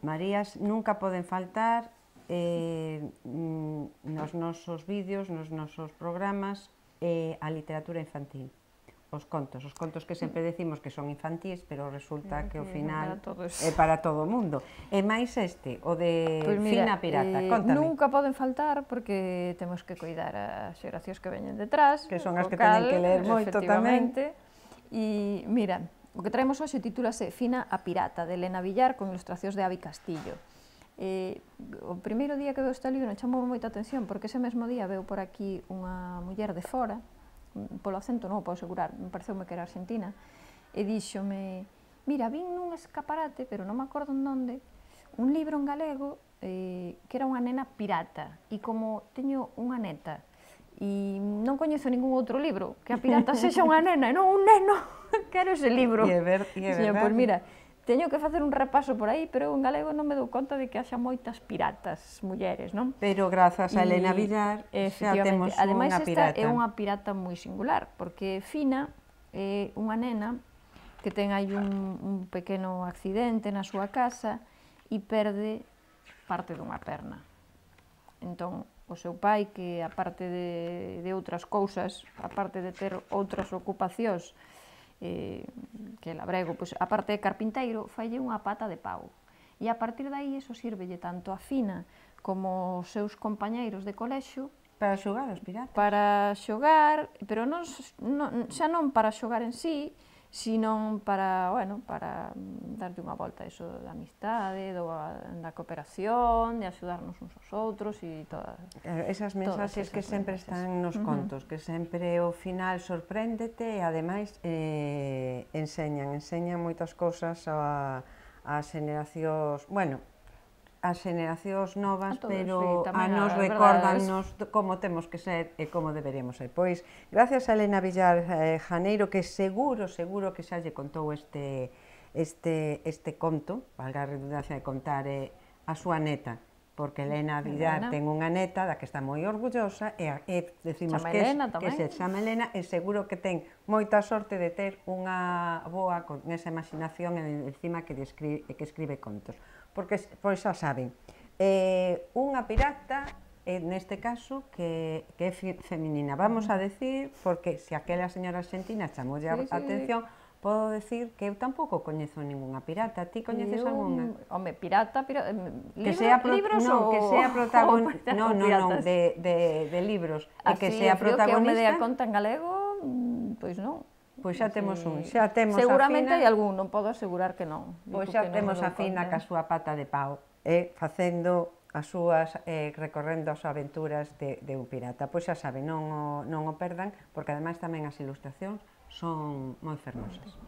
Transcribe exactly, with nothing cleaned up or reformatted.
Marías nunca poden faltar eh, nos nosos vídeos, nos nosos programas, eh, a literatura infantil. Os contos, os contos que sempre decimos que son infantís, pero resulta que ao final é para todo o mundo. E máis este, o de Fina Pirata, contame. Nunca poden faltar porque temos que cuidar as xeracións que veñen detrás. Que son as que teñen que ler moito tamén. E mira, o que traemos hoxe titúlase Fina a Pirata, de Elena Villar, con ilustracións de Avi Castillo. O primeiro día que veo este libro chamou moita atención porque ese mesmo día veo por aquí unha muller de fora, polo acento non o podo asegurar, me pareceume que era argentina, e díxome, mira, vin nun escaparate, pero non me acordo en onde, un libro en galego eh, que era unha nena pirata, e como teño unha neta, e non coñezo ningún outro libro que a pirata sexa unha nena, e non un neno, quero ese libro. E é verdade. Pois mira, teño que facer un repaso por aí, pero en galego non me dou conta de que haxa moitas piratas mulleres, non? Pero grazas a Elena Villar xa temos unha pirata. Ademais, esta é unha pirata moi singular, porque Fina é unha nena que ten aí un pequeno accidente na súa casa e perde parte dunha perna. Entón, o seu pai, que aparte de outras cousas, aparte de ter outras ocupacións, que é labrego, aparte de carpinteiro, faille unha pata de pau. E a partir de aí, iso sírvelle tanto a Fina como os seus compañeiros de colexio para xogar aos piratas. Para xogar, pero xa non para xogar en sí, sino para, bueno, para darlle unha volta a iso da amistade, da cooperación, de axudarnos uns aos outros e todas. Esas mensaxes que sempre están nos contos, que sempre ao final sorpréndete e ademais enseñan, enseñan moitas cousas ás xeneracións, bueno, as xeneracións novas, pero a nos recórdanos como temos que ser e como deberíamos ser. Pois, gracias a Elena Villar Janeiro, que seguro, seguro que xa lle contou este conto, valga a redundancia de contar, a súa neta, porque Elena Villar ten unha neta da que está moi orgullosa e decimos que se chama Elena e seguro que ten moita sorte de ter unha boa con esa imaginación encima que escribe contos. Porque, pois xa saben, unha pirata, neste caso, que é feminina. Vamos a decir, porque se aquela señora argentina chamoulle a atención, podo decir que eu tampouco coñezo ninguna pirata. Ti coñeces algunha? Home, pirata, libros ou... Que sea protagonista... Non, non, non, de libros. E que sea protagonista... Así, o que me dea conta en galego, pois non. Pois xa temos un, xa temos a Fina... Seguramente hai algún, non podo asegurar que non. Pois xa temos a Fina ca súa pata de pau, e facendo as súas, recorrendo as aventuras de un pirata. Pois xa saben, non o perdan, porque ademais tamén as ilustracións son moi fermosas.